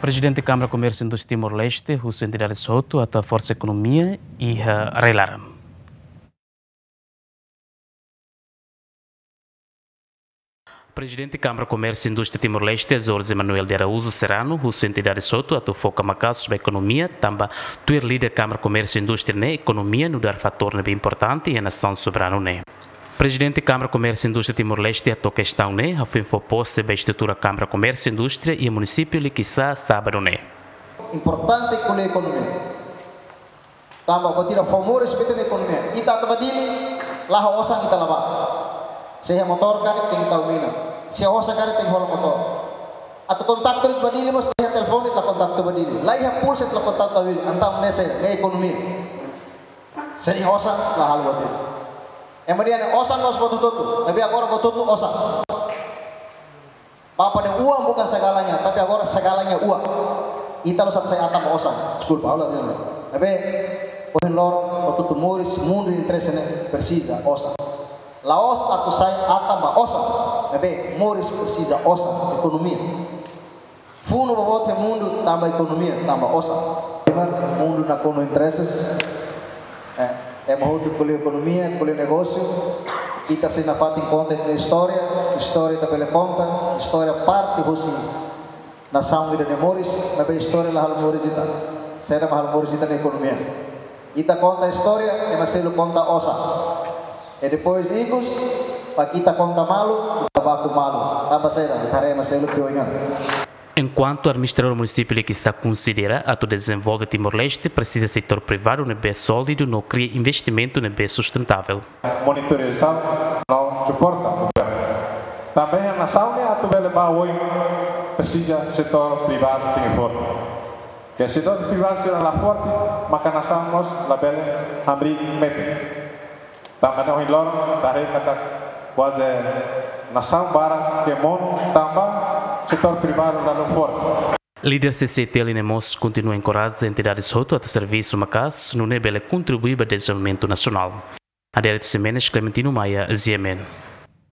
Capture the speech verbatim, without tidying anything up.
Prezidente Kámara Komérsiu Indústria Timor-Leste husu entidades hotu atu haforsa ekonomia iha rai-laran. Prezidente Kámara Komérsiu Indústria Timor-Leste, Jorge Manuel de Araújo Serrano, husu entidades hotu atu foka maka'as ba ekonomia, tanba tuir líder Kámara Komérsiu Indústria ne'e, ekonomia nu'udar fatór ne'ebé importante iha nasaun soberanu ne'e. Prezidente Kámara Komérsiu Indústria Timor-Leste hato'o kestaun ne'e hafoin fó pose ba estrutura Kámara Komérsiu Indústria iha munisípiu Liquiçá, sábadu ne'e. Importante ko'alia ekonomia. Tanba buat ida fó moris ba ita-nia ekonomia. Ita atu ba Dili, la ho osan ita la bá. Se iha motór karik tenke tau mina. Se iha osan karik tenke hola motór. Atu kontaktu ba Dili mós, la iha telefone ita kontaktu ba Dili. La iha pulsa ita kontaktu ba Dili. Entaun ne'e sé, ne'e ekonomia. Se iha osan, la halo buat ida. Ema dehan ne'e osan mós buat hotu-hotu. Ne'ebé agora buat hotu-hotu osan. Bapa dehan uang bukan segalanya, tapi agora segalanya uang. Ita la'ós atu sai atan ba osan. Deskulpa, ha'u la sini. Ne'ebé, ohin loron, atu tuir moris, mundu interese ne'e presiza osan. La'ós atu sai atan ba osan. Ne'ebé, moris presiza osan, ekonomia. Funu boboot iha mundu tanba ekonomia, tanba osan. Ema, mundu nakonu interesses. Eh, ema hotu ko'alia ekonomia, ko'alia negósiu. Ita sei nafatin konta ita-nia istória, istória ita bele konta, istória parte husi nasaun ida-ne'e moris, maibé istória la halo moris ita. Saida mak halo moris ita-nia ekonomia. Ita konta istória, ema seluk konta osan. I depois ikus, para ita konta malu, ita baku malu. Tanba saida, ita haree ema seluk pior ingan. Enkuantu administradór munisípiu Liquiçá konsidera atu dezenvolve Timor-Leste presiza setór privadu ne'ebé sólidu no kria investimentu ne'ebé sustentável. Monitorizasaun no suporta governu. Tanba iha nasaun ne'e atu bele ba oin presiza setór privadu tenke forte. Se setór privadu sira la forte, maka nasaun mós labele hamriik metin. Tanba ne'e ohin loron, ita haree katak kuaze nasaun barak ke monu tanba setór privadu la forte. Líder C C I T L ne'e mós kontinua enkoraja entidades hotu atu servisu maka'as, nune'e bele kontribui ba dezenvolvimentu nasionál. Adérito Ximenes, Clementino Maia, G M N.